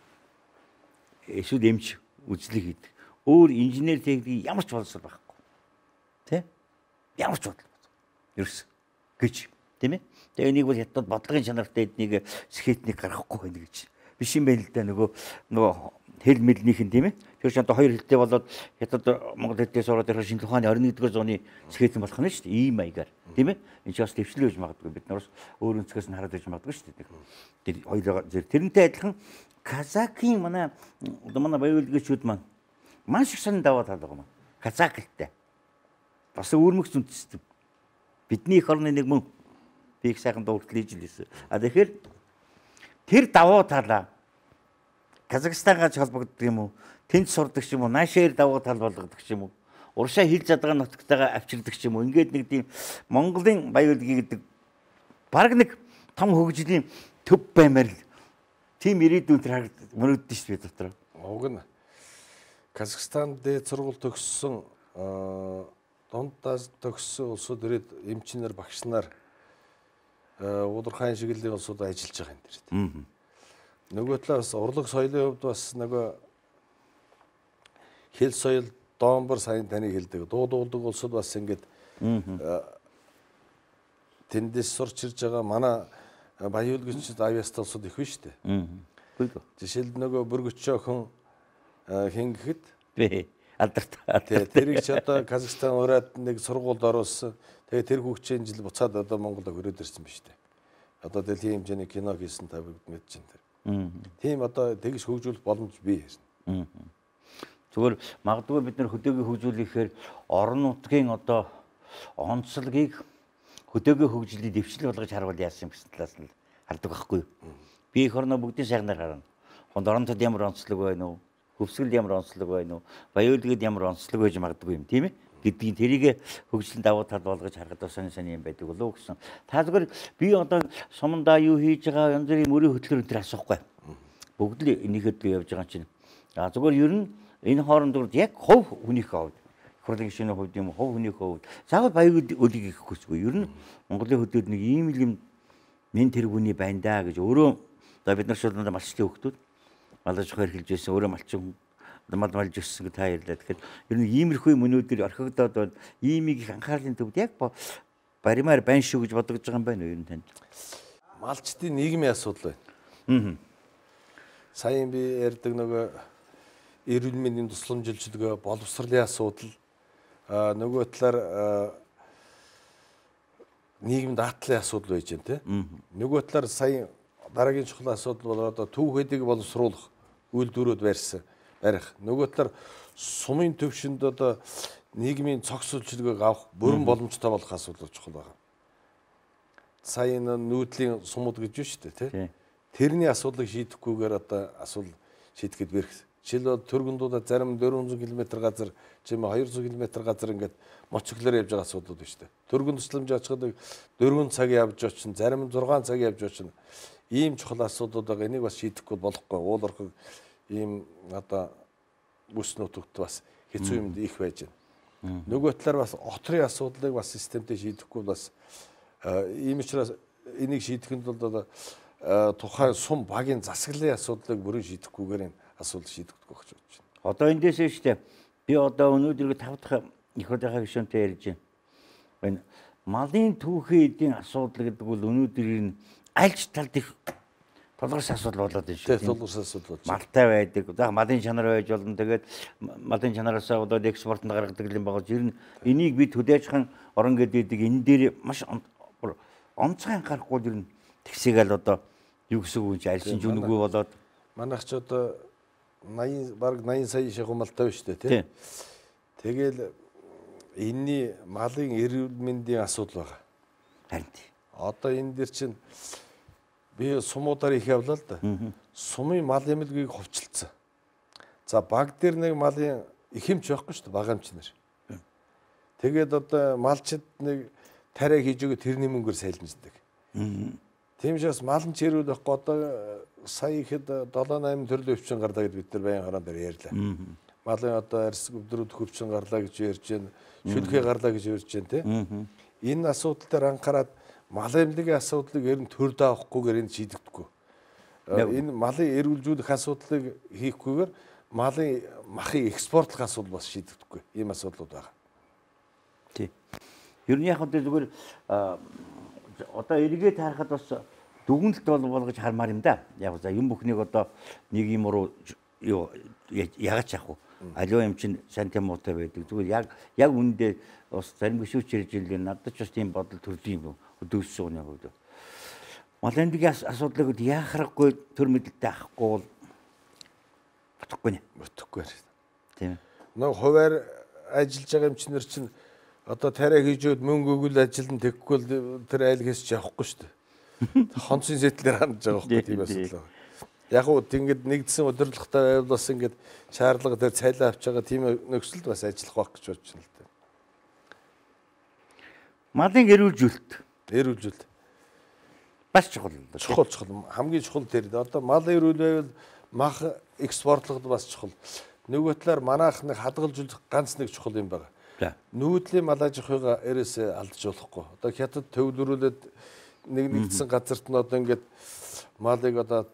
Эсвэл эмч үзлэг хийдэг. Өөр инженер техник ямар ч боловсрол байхгүй. Тэ? Ямар ч бодлого. Ерөөс гэж тийм ээ. Тэгээ энийг бол хятад бодлогын чанартай эднийг скетник гаргахгүй байна гэж. Биш юм байна л да нөгөө хэл мэлнийх нь тийм ээ. Тэр чинь одоо хоёр хэлтэй болоод хятад монгол хэлтэй сураад ирэх шинэ ухааны 21-р зууны скетэн болох нь шүү дээ. Ийм маягаар тийм ээ. Энд ч бас төвчлөө гэж магадгүй бид нараас өөр өнцгөөс нь хараад иж магадгүй шүү дээ. Тэр хоёулаа тэрнтэй адилхан казакийн манай Баян-Улгчуд маань маш их сонь даваа тал байгаа юм. Казак хэлтэй. Бас өөрмөгц үндэстэн. Бидний эх орны нэг мөн би их сайхан дуултал хийж лээсэн. Тэгэхээр тэр даваа талаа Казахстангаа холбогддог юм уу? Тэнд сурдаг ч юм уу? Наашаар даваа тал болгодог ч юм уу? Уршаа хил задгаа нутагтайгаа авчирдаг ч юм уу? Ингээд нэг тийм Монголын Баян-Улгийн гэдэг баг нэг том хөгжлийн төв баймаар л тийм ирээдүйн тэр мөрөддөн шүү дээ дотор. Уг нь Казахстан дээд сургууль төгссөн дундаас төгссөн улсууд ирээд эмчнэр багш нар удирхан шиглэлийн улсууд ажиллаж байгаа юм дээр. Нөгөө талаас урлаг соёлын хувьд бас нөгөө хэл соёл доомбор сайн таныг хэлдэг. Дуулдаг улсууд бас ингээд тэндээс сурч ирж байгаа манай Баян-Улгчид авьяастай улсууд их биш үү? Жишээлбэл нөгөө бүргөчөө хүн хин гэхэд алдарт. Тэрийг ч одоо Казахстан ураад нэг сургуульд оруулсан. Тэгээ тэр хүүхчийн жил буцаад одоо Монголд өрөөд ирсэн биз дээ. Одоо дэлхийн хэмжээний кино хийсэн та бүгд мэдж байна тэр. Тийм одоо тэгж хөгжүүлэх боломж бий. Зүгээр магадгүй бид нар хөдөөгийн хөгжүүлэхээр орон нутгийн одоо онцлогийг хөдөөгийн хөгжлийг дэвшил болгож харуул яасан гэсэн талаас нь хардаг байхгүй юу? Би эх орноо бүгдийн сайхнаар харна. Хонд оронтод ямар онцлог байна уу? Хөвсгөл ямар онцлог байна уу? Баяуулгад ямар онцлог байж магадгүй юм, тийм ээ? Гэдгийг тэрийг хөгжлөнд давуу тал болгож харахад бас сони юм байдаг болов уу гэсэн. Та зүгээр би одоо сумандаа юу хийж байгаа янз бүрийн мөрийн хөтлөр өнтер асуухгүй. Бүгд л энийхэд явж байгаа чинь. Зүгээр ер нь энэ хоорондоо яг хов хүнийхээ хувьд хурлын гишүүний хувьд юм хов хүнийхээ хувьд заавал баяг үлийг их хүсгүй. Ер нь Монголын хөдөөд нэг ийм л юм мен тэр хүний байна даа гэж өөрөө одоо бид нар шууд малчтын хөвгтүүд малж хэрхэлж байсан өөрөө малчин малж өссөн та ярьлаа. Тэгэхээр ер нь иймэрхүү мөнүүдээр орхигдоод байна. Иймийг их анхаарлын төвд яг баримаар байна шүү гэж бодож байгаа юм байна уу ер нь танд? Малчтын нийгмийн асуудал байна. Саяхан би ярьдаг нөгөө эрүүл мэндийн тусламжилчдгаа боловсролын асуудал нөгөө талаар нийгэмд аатлын асуудал байж байна те. Нөгөө талаар сая дараагийн чухал асуудал бол одоо төв хэдийг боловсруулах үйлдвэрүүд барих. Нөгөө талаар сумын төвшөнд одоо нийгмийн цогц үйлчилгээг авах бүрэн боломжтой болох асуудал чухал байна. Сая нүүдлийн сумууд гэж байна шүү дээ тий. Тэрний асуудлыг шийдэхгүйгээр одоо асуудал шийдэхэд бэрх. Жишээлбэл Төргөндүүдэ зарим 400 км газар, чим 200 км газар ингээд моцглоор явж байгаа асуудлууд байна шүү дээ. Төргөн тусламж очиход 4 цаг явж очин, зарим 6 цаг явж очин. Ийм чухал асуудлууд байгаа. Энийг бас шийдэхгүй болохгүй. Уул орхиг ийм одоо бүс нутагт бас хэцүү юмд их байж байна. Нөгөө талаар бас отрын асуудлыг бас системтэй шийдэхгүй бас ийм учраас энийг шийдэхэд бол тухайн сум багийн засаглалын асуудлыг бүрэн шийдэхгүйгээр энэ асуудал шийдэгдэх гэж бодож байна. Одоо эндээс шүү дээ. Би одоо өнөөдөр 5 дахь их хурлынхаа гишүүнтэй ярьж байна. Малын түүхийн эдийн асуудал гэдэг бол өнөөдөр аль ч талд их тулгарч асуудал болоод байна шүү. Тулгарч асуудал болж. Малтай байдаг. За малын чанар байж болно. Тэгээд малын чанараас болоод экспортод гаргадаг юм байгаа. Жир нь энийг би төдөөжхан орон гэдэг энэ дээр маш онцгой анхаарахгүй жир нь тэгсээгэл одоо юу гэсэн үг аль ч жүнэггүй болоод манайх ч одоо 80 бараг 80 сая шахуу малтай байна шүү дээ тий. Тэгэл энэний малын эрүүл мэндийн асуудал байгаа. Харин одоо энэ дэр чинь би сумуудаар их явлаа л да. Сумын мал эмнэлгийг хувьчилсан. За баг дээр нэг малын их юмч байхгүй шүү дээ, бага юмч нэр. Тэгээд одоо малчид нэг тариа хийж өгөө тэрний мөнгөөр сайлмждаг. Тийм учраас малын чирүүл байхгүй одоо сая ихэд 7-8 төрлийн өвчин гарлаа гэж бид нар баян хараан дээр ярьлаа. Малын одоо арьс өвдрүүд хөвчин гарлаа гэж ярьж байна. Шүлхий гарлаа гэж ярьж байна тий. Энэ асуудал дээр анхаарад мал эмнэлгийн асуудлыг ер нь төр даахгүйгээр энэ шийдэгдэхгүй. Энэ малын эрүүлжүүлэх асуудлыг хийхгүйгээр малын махыг экспортлох асуудал бас шийдэгдэхгүй. Ийм асуудлууд байгаа. Тий. Ер нь яг зүгээр одоо эргээд харахад бас дүгнэлт болгож хармаар юм да. Яг за юм бүхнийг одоо нэг юм руу юу ягаач яах вэ? Аливаа юм чинь сантимуутай байдаг. Зүгээр яг үүндээ бас зарим гişүүч ирж ирлээ. Надад ч бас тийм бодол төрдөг юм өдөөс сууны хувьд. Мал эмнэлгийн асуудлыг яах харахгүй төр мэдлэлтэй авахгүй бол бодохгүй нэ. Бодохгүй. Тийм. Нэг хуваар ажиллаж байгаа юм чинь чинь одоо тариа хийж өд мөнгө өгөл ажилд тэгэхгүй тэр айл хийсч явахгүй шүү дээ. Хонцын сэтлэр хандж байгаа байхгүй тийм асуудал. Яг уу тэгэд нэгдсэн удирдлагатай байвал бас ингээд шаардлага дээр цайлаа авч байгаа тийм нөхцөлд бас ажиллах байх гэж бодож байна л дээ. Малын эрүүлжүүлэлт бас чухал. Чухал хамгийн чухал тэр. Одоо мал эрүүл байвал мах экспортлоход бас чухал. Нөгөө талаар манайх нэг хадгалжуулах ганц нэг чухал юм байна. Нүүдлийн мал аж ахуйга эрээсээ алдаж болохгүй. Одоо хятад төвлөрүүлээд нэгдсэн газарт нь одоо ингээд малыг одоо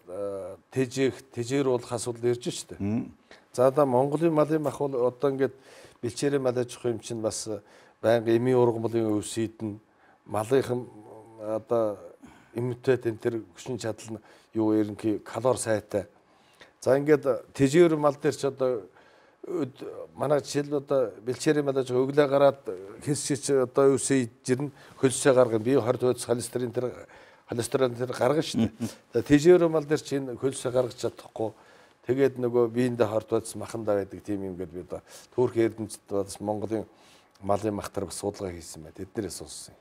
тэжээруулах асуудал ирж штэ. За одоо Монголын малын мах бол одоо ингээд бэлчээрийн мал аж ахуй юм чинь бас байнга эмийн ургамлын өвсөйдэн малынхан одоо иммунитет энэ төр хүчин чадал нь юу ерөнхий калори сайтай. За ингээд тэжээр мал дээр ч одоо манай жишээл одоо бэлчээрийн малаж өглөө гараад хэсчиж одоо юу сэйжирнэ хөлсөө гаргана би 20 төвс холестерин тэр гаргана шүү дээ. Тэжээр мал дээр чинь хөлсөө гаргаж чадахгүй тэгээд нөгөө биендээ хортоодс махандаа байдаг тийм юм гээд би одоо Турк эрдэмтэд бас Монголын малын махтар бас судалгаа хийсэн байна. Тэднэрээс сонссон.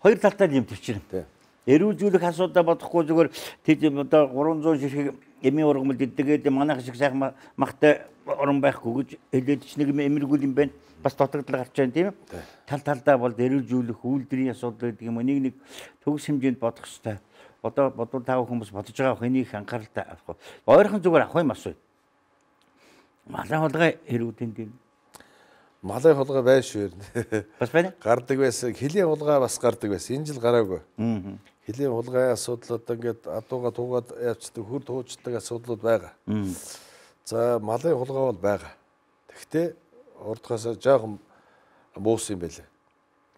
Хоёр талтай юм төвчрэн. Эрүүлжүүлэх асуудал бодохгүй зүгээр тийм одоо 300 ширхэг эмийн ургамал дидгээд манайх шиг сайхан махтай орон байхгүй гэж хэлээд ч нэг эмэргүй юм байна. Бас дутагдлага гарч байна тийм үү? Тал талдаа бол эрүүлжүүлэх үйлдвэрийн асуудал гэдэг юм. Нэг төгс хэмжээнд бодох хэрэгтэй. Одоо бодвол тав хүмүүс бодож байгаа хэнийг анхааралтай авах. Ойрхон зүгээр авах юм асуу. Малын хулгай эрүүдэн дээр. Малын хулгай байна шүү. Бас байна. Гардаг байсан. Хилийн хулгай бас гардаг байсан. Энэ жил гараагүй. Хилийн хулгай асуудлууд ингээд адууга туугаад явцдаг хүр туучдаг асуудлууд байгаа. За малын хулгай бол байгаа. Тэгвэл урдгаас жоохон буус юм байлээ.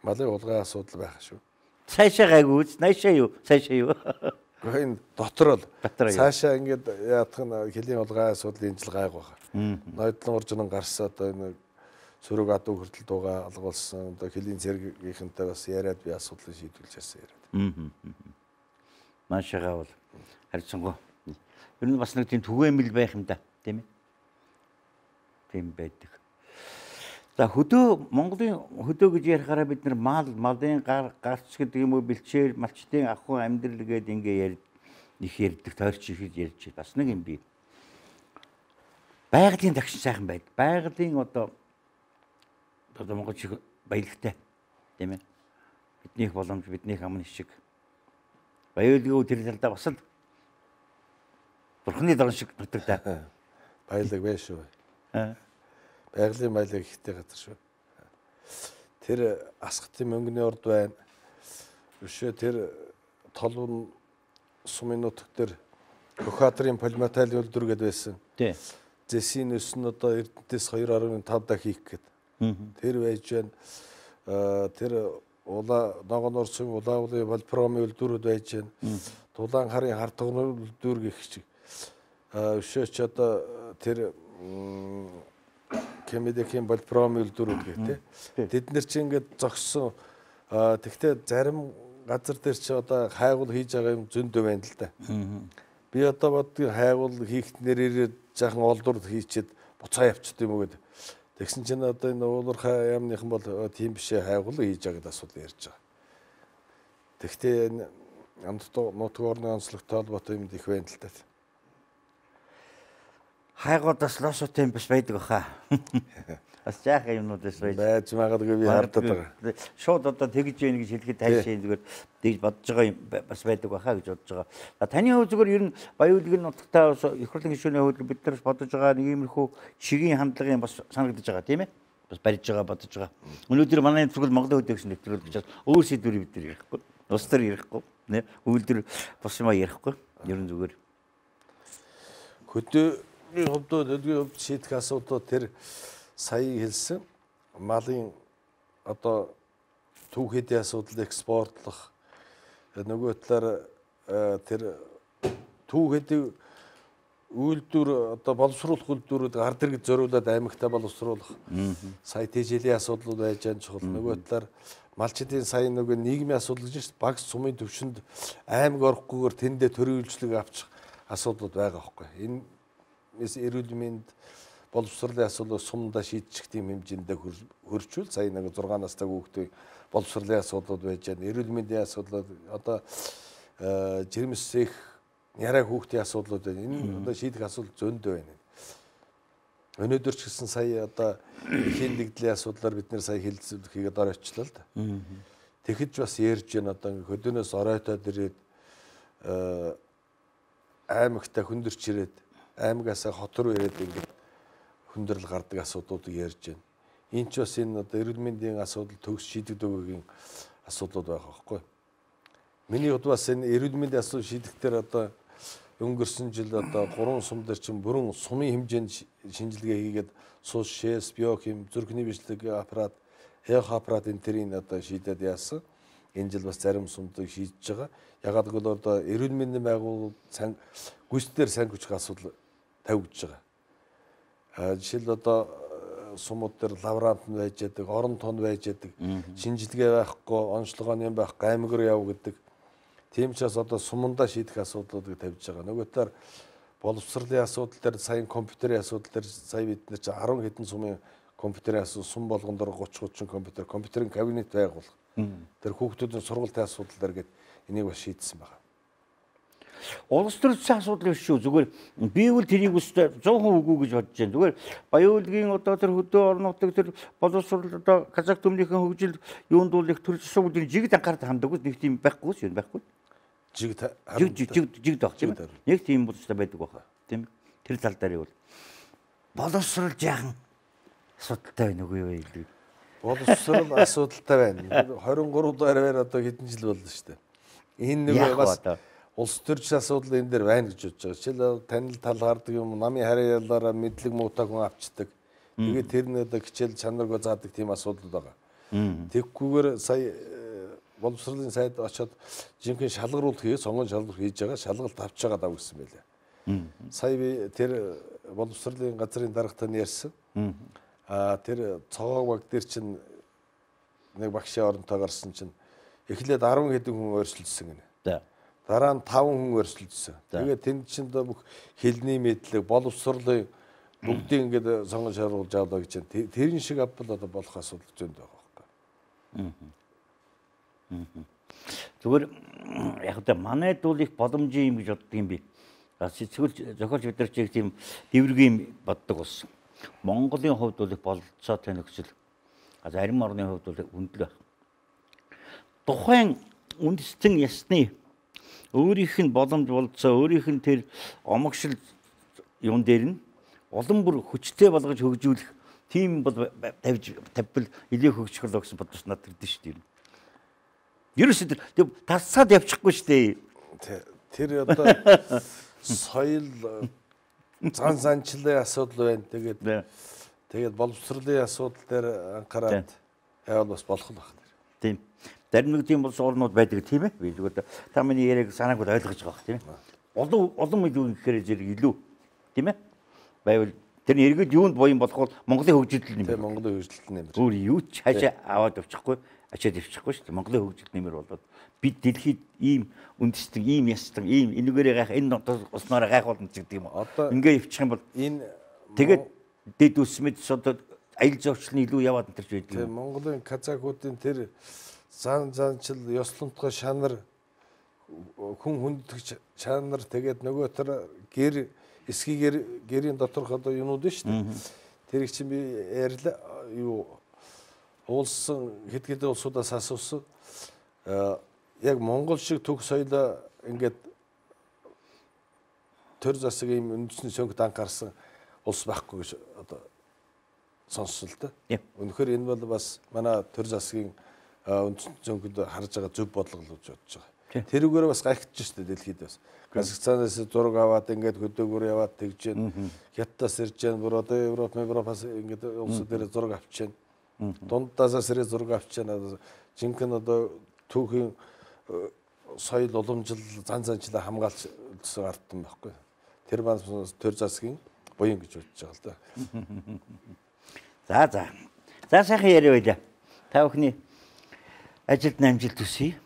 Малын хулгай асуудал байгаа шүү. Цаашаа гайгүй, наашаа юу? Цаашаа юу? Гэхдээ энэ дотор л цаашаа ингээд яадах нь хилийн хулгай асуудал энэ жил гайгүй байна. Ноёдлон уржин гарсан одоо энэ сөрөг адуу хүртэл дууга алгуулсан одоо хилийн зэргийнхэнтэй бас яриад би асуудлыг шийдвэрлэж ярьсан яриад. Маашаага бол харьцангуй. Ер нь бас нэг тийм түгээмэл байх юм да, тийм ээ. Тийм байдаг. За хөдөө Монголын хөдөө гэж ярихаараа бид нар малын гарц гэдэг юм уу бэлчээр малчтын ахуй амьдрал гээд ингээ их ярьдаг тойрч ихэд ярьж бас нэг юм бий. Байгалийн тагшин сайхан байдаг. Байгалийн одоо Монгол шиг баялагтай тийм ээ. Биднийх боломж биднийх амн шиг. Баялагын тэр талдаа бас л бурхны дорн шиг нутагтай. Баялаг байна шүү. Байгалийн баялаг ихтэй газар шүү. Тэр асхтын мөнгөний урд байна. Өшөө тэр толгон сумын нутаг дээр Хөхадрын полиметал үйлдвэр гэдэг байсан. Тий. Зэсийн өс нь одоо Эрдэнэтээс 2.5 дахь хийх гээд. Тэр байж байна. Тэр ногоон орсон улаавлын волпром үйлдвэрүүд байж байна. Дулаан харын хардгын үйлдвэр гэх чиг. Өшөөч одоо тэр Кемедекийн волпром үйлдвэрүүд гэх тээ. Тэд нар чи ингээд зогссон. Тэгтээ зарим газар дээр чи одоо хайгуул хийж байгаа юм зөндөө байна л да. Би одоо бодгийн хайгуул хийхт нэрээр жаахан олдур хийчихэд буцаа явчихд юм уу гэдэг. Тэгсэн чинь одоо энэ уулуурхай яамныхан бол тийм бишээ хайгуул хийж байгаа гэдэг асуудал ярьж байгаа. Тэгтээ нутаг орны онцлогтой холбоотой юм их байна л да. Хайгуудаас лосотой юм биш байдаг баха. Бас жаахан юмнуудаас байж магадгүй би харддаг байгаа. Шууд одоо тэгж яах гэж хэлэхэд тайшаа зүгээр тэгж бодож байгаа юм бас байдаг баха гэж бодож байгаа. Таны хувьд зүгээр ер нь баяуулгын нутагтаа их хурлын гишүүний хувьд бид нар бодож байгаа нэг иймэрхүү шигийн хандлагын бас санагдаж байгаа тийм ээ. Бас барьж байгаа бодож байгаа. Өнөөдөр манай зөвхөн Монголын хөдөө гэсэн нэвтрүүлэг гэж өөр сэдвэр бид нар ярихгүй. Ус төр ярихгүй. Нэ үйлдвэр бос юм ярихгүй. Ер нь зүгээр. Хөдөөний хувьд шийдэх асуудал тэр сая хэлсэн малын одоо түүхэдийн асуудал экспортлох нөгөө талаар тэр түүхэдийн үйлдвэр одоо боловсруулах үйлдвэрүүд ард иргэд зориулаад аймагтаа боловсруулах сая тэжээлийн асуудлууд байж байгаа чухал нөгөө талаар малчдын сая нөгөө нийгмийн асуудал гэж баг сумын төвшөнд аймаг орохгүйгээр тэндээ төрийн авчих асуудлууд байгаа байхгүй энэ эрүүл мэнд боловсролын асуудлыг сумдаа шийдчих тийм хэмжээндээ хөрчүүл сая нэг 6 настай хүүхдийн боловсролын асуудлууд байж байна. Эрүүл мэндийн асуудлууд одоо жирэмсэх яраа хүүхдийн асуудлууд байна. Энэ одоо шийдэх асуудал зөндөө байна. Өнөөдөр ч гэсэн сая одоо эхийн дэгдлийн асуудлаар бид нэр сая хэлцүүлэхийг оройчлаа л да. Тэгэхэд бас ярьж байна одоо хөдөөнөөс оройтоод ирээд аймагтаа хүндэрч ирээд аймагаасаа хот руу ирээд ингээд хүндрэл гардаг асуудлуудыг ярьж байна. Энд ч бас энэ одоо эрүүл мэндийн асуудал төгс шийдэгдэгүйгийн асуудлууд байгаа байхгүй. Миний хувьд бас энэ эрүүл мэндийн асуудал шийдэхдээ одоо өнгөрсөн жил одоо 3 сум дээр чинь бүрэн сумын хэмжээнд шинжилгээ хийгээд суус шээс, биохим, зүрхний бичлэг аппарат, эхо аппарат энэ төрийн одоо шийдээд яасан. Энэ жил бас зарим сумдыг шийдэж байгаа. Ягаад гэвэл одоо эрүүл мэндийн байгууллагууд гүйцэтгэр сайн хүч асуудал тавигдж байгаа. Жишээл одоо сумууд дээр лаврант нь байж яадаг, орон тон байж яадаг, шинжилгээ байхгүй, онцлогооны юм байхгүй, аймаг руу яв гэдэг. Тийм ч бас одоо сумандаа шийдэх асуудлуудыг тавьж байгаа. Нөгөө талаар боловсролын асуудал дээр, саяны компьютерийн асуудал дээр сая бид нар чи 10 хэдэн сумын компьютерийн асуудал, сум болгон дээр 30 компьютерийн кабинет байгуулах. Тэр хүүхдүүдийн сургалтын асуудал дээр гээд энийг бас шийдсэн байгаа. Улс төрийн асуудал биш шүү. Зүгээр би бол тэрийг өстой 100% үгүй гэж бодож байна. Зүгээр Баян-Улгийн одоо тэр хөдөө орон нутаг тэр боловсрол одоо Казак төмнийхэн хөгжил юунд бол их төрөл асуудлыг жигд анхаард ханддаг нэг тийм байхгүй шүү. Байхгүй. Жигд баг тийм. Нэг тийм болцтой байдаг баха. Тийм. Тэр тал дээр бол боловсрол жаахан асуудалтай байна үгүй юу илүү. Боловсрол асуудалтай байна. 23 дугаар одоо хэдэн жил болно шүү дээ. Энэ нэг бас улс төрийн асуудал энэ дээр байна гэж бодож байгаа. Жишээл танил тал гардаг юм, намын харьяалаараа мэдлэг муутай хүн авчдаг. Тэгээд тэр нь одоо хичээл чанаргүй заадаг тийм асуудал байгаа. Тэгхгүйгээр сая боловсролын сайд очоод жинхэнэ шалгаруулт хийе, сонгон шалгуур хийж байгаа, шалгалт авч байгаа даа гэсэн байлаа. Сая би тэр боловсролын газрын дарагтай нь ярьсан. Тэр цогоо баг дээр чинь нэг багшийн оронтой гарсан чинь эхлээд 10 хэдэн хүн өөрчлөлтсөн гинэ. Дараа нь 5 хүн өрсөлдсөн. Тэгээд тэнд чинь бүх хэлний мэдлэг, боловсролын бүгдийг ингээд сонгон шалгуулж авлаа гэж байна. Тэрэн шиг авбал одоо болох асуудал зөнд байгаа байхгүй. Зүгээр яг одоо манайд бол их боломжийн юм гэж боддог юм би. Сэтгэл зохиолч бид нар чиг тийм дэвргийн боддог болсон. Монголын хувьд бол их болцоотой нөхцөл. Зарим орны хувьд бол хүндэл байх. Тухайн үндэстэн ясны өөрийнх нь боломж болцоо, өөрийнх нь тэр омогшил юм дээр нь улам бүр хүчтэй болгож хөгжүүлэх тийм бол тавьбал илүү хөгжих л гэсэн бодож надад ирдэ шүү дээ. Ерөөсөө тэр тасцаад явчихгүй шүү дээ. Тэр одоо соёл занчлалын асуудал байна. Тэгээд боловсролын асуудал дээр анхаарал явал бас болох л байна. Тийм. Зарим нэг тийм улс орнууд байдаг тийм ээ. Би зүгээр та миний яриаг санааг ойлгож байгаа тийм ээ. Олон илүү гэхээр зэрэг илүү тийм ээ. Байвал тэр эргээд юунд буян болох бол Монголын хөгжилт нэмэр. Тийм Монголын хөгжилт нэмэр. Өөр юу ч хаашаа аваад авчихгүй, ачаад авчихгүй шүү дээ. Монголын хөгжилт нэмэр болоод бид дэлхийд ийм үндэстэн, ийм ястан, ийм энэгээрээ гайх энэ уснаараа гайхуулна гэдэг юм. Ингээ явчих юм бол энэ тэгээд дэд үсмэд одоо аялал жуулчлалын илүү яваад энэ төрж байдаг. Тийм Монголын казакуудын тэр занчил ёслонтгой шанар хүн хүнддэг шанар тэгээд нөгөө тэр гэр эсгийгээр гэрийн доторх одоо юмуд нь шүү дээ. Тэрийг чинь би ярьлаа юу уулсан хэд улсуудаас асуусан яг Монгол шиг төг соёлоо ингээд төр засаг юм үндэсний сөнгөд анхаарсан улс байхгүй гэж одоо сонссон л да. Үнэхээр энэ бол бас манай төр засгийн үндэсний сөнгөд харж байгаа зөв бодлого л гэж бодож байгаа. Тэрүүгээр бас гайхаж штэ дэлхийд бас. Казахстанаас зураг аваад ингээд хөдөөгөр яваад тэгж जैन. Хятадаас ирж जैन бүр одоо Европоос ингээд улсууд дээр зураг авч जैन. Дундаас ирээ зураг авч जैन. Жинхэнэ одоо түүхийн соёл уламжил занчлаа хамгаалж ардсан байхгүй. Тэр маань төр засгийн буян гэж бодож байгаа л да. За сайхан яриа байлаа. Та бүхний ажилд амжилт хүсье.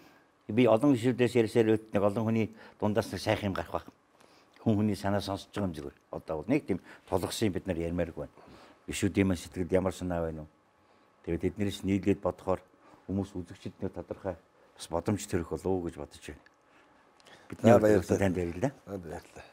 Би олон гишүүдээс ярьсаар нэг олон хүний дундаас нэг сайхан юм гарах байх. Хүний санаа сонсож байгаа юм зүгээр. Одоо нэг тийм тулгсан бид нар ярмааргүй байна. Гишүүдийн сэтгэлд ямар санаа байна вэ? Тэгээд эднэрээс нийлээд бодохоор хүмүүс үзэгчдэд тодорхой бас бодомж төрөх болов уу гэж бодож байна. Бидний баярлалаа танд баярлалаа. Баярлалаа.